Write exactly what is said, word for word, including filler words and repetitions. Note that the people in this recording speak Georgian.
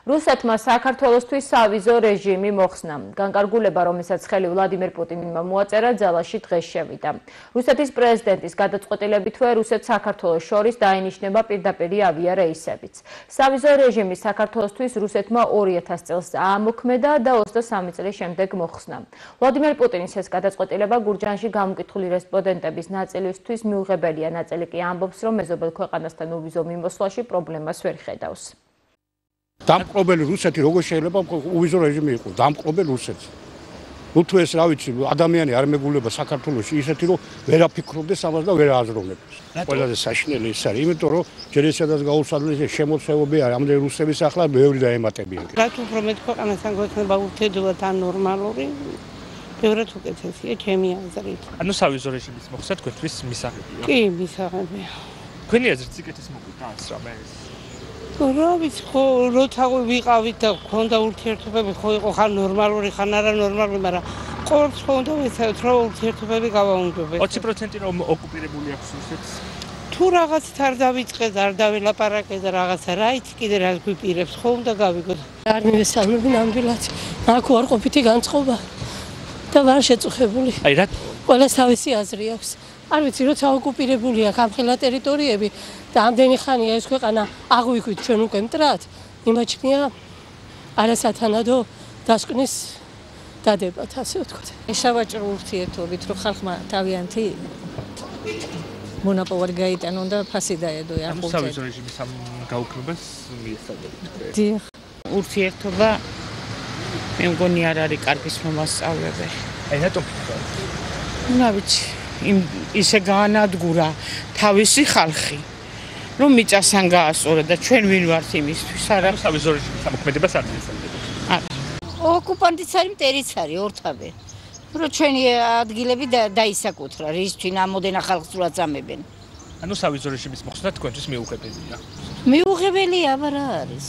რუსეთმა საქართველოსთვის სავიზო რეჟიმი მოხსნა. განკარგულება, რომელსაც ხელი ვლადიმერ პუტინმა მოაწერა, ძალაში დღეს შევიდა. რუსეთის პრეზიდენტის გადაწყვეტილებითვე რუსეთს საქართველოს შორის დაინიშნება პირდაპირი ავიარეისებიც. სავიზო რეჟიმი საქართველოსთვის რუსეთმა ორი ათასი წელს აამოქმედა და ოცდასამი წლის შემდეგ მოხსნა. ვლადიმერ პუტინის ეს გადაწყვეტილება გურჯაანში გამოკითხული რესპონდენტების ნაწილისთვის მიუღებელია. ნაწილი კი ამბობს, რომ მეზობელ ქვეყანასთან უვიზო მიმოსვლაში პრობლემას ვერ ხედავს. დამპყრობელი რუსეთი როგორ შეიძლება უვიზო რეჟიმი იყოს? დამპყრობელი რუსეთი. ნუ თუ ეს რა ვიცი, ადამიანი არ მეგულება საქართველოში ისეთი, რომ ვერაფიქრობდეს ამას და ვერ აზროვნებს. ყველაზე საშინელი ის არის, იმიტომ რომ ჯერ ესადაც გაუსადლის შემოწევები არის, ამდენ რუსების ახლა ბევრი დაემატებიან. რაც უფრო მეტ ქვეყანასთან გვექნება ურთიერთობა თან ნორმალური, ბევრად უკეთესია ჩემი აზრით. ანუ სავიზო რეჟიმის მოხსნა თქვენთვის მისაღებია? კი, მისაღებია. თქვენი აზრით სიკეთის მოგვიდა ეს რამე? რა ვიცი, ხო, როცა ვიყავით და გქონდა ურთიერთობები, ხო იყო ხან ნორმალური, ხან არა ნორმალური, მაგრამ ყოველთვის ხო უნდა ვიცავთ, რომ ურთიერთობები გავაუმჯობესოთ. ოცი პროცენტი რომ ოკუპირებული აქვს რუსეთს. თუ რაღაცით არ დავიწყეთ, არ დავილაპარაკეთ და რაღაცა რა იცი კიდე რა გვიპირებს, ხო უნდა გავიგოთ. არ მივესალმები ნამდვილად. აქ უარყოფითი განწყობა და ვარ შეწუხებული. აი რა ყველას თავისი აზრი აქვს. არ ვიცი, როცა ოკუპირებულია გამხელა ტერიტორიები და ამდენი ხანია ეს ქვეყანა აღვიქვით ჩვენ უკვე მტრად, იმაჩნია არასათანადო დასკვნის დადებათ, ასე ვთქვათ. სავაჭრო ურთიერთობით, რომ ხალხმა თავიანთი მონოპოლი გაიტანონ და ფასი დაედო ახალ სავიზო რეჟიმის ამ გაუქმებას მიესალმებით. დიახ, ურთიერთობა მე მგონი არ არის კარგის მომასწავლებელი. აი რატომ ფიქრობ? რა ვიცი, იმ ისე გაანადგურა თავისი ხალხი, რომ მიწასთან გაასწორა და ჩვენ ვინ ვართ იმისთვის, არა? სავიზო რეჟიმის ამოქმედებას არ მიესალმებით. არა. ოკუპანტიც არის, მტერიც არის, ორთავე. რომ ჩვენი ადგილები დაისაკუთრა, რისთვის ამოდენა ხალხს თუ აწამებენ. ანუ სავიზო რეჟიმის მოხსნა თქვენთვის მიუღებელია. მიუღებელია, აბა რა არის?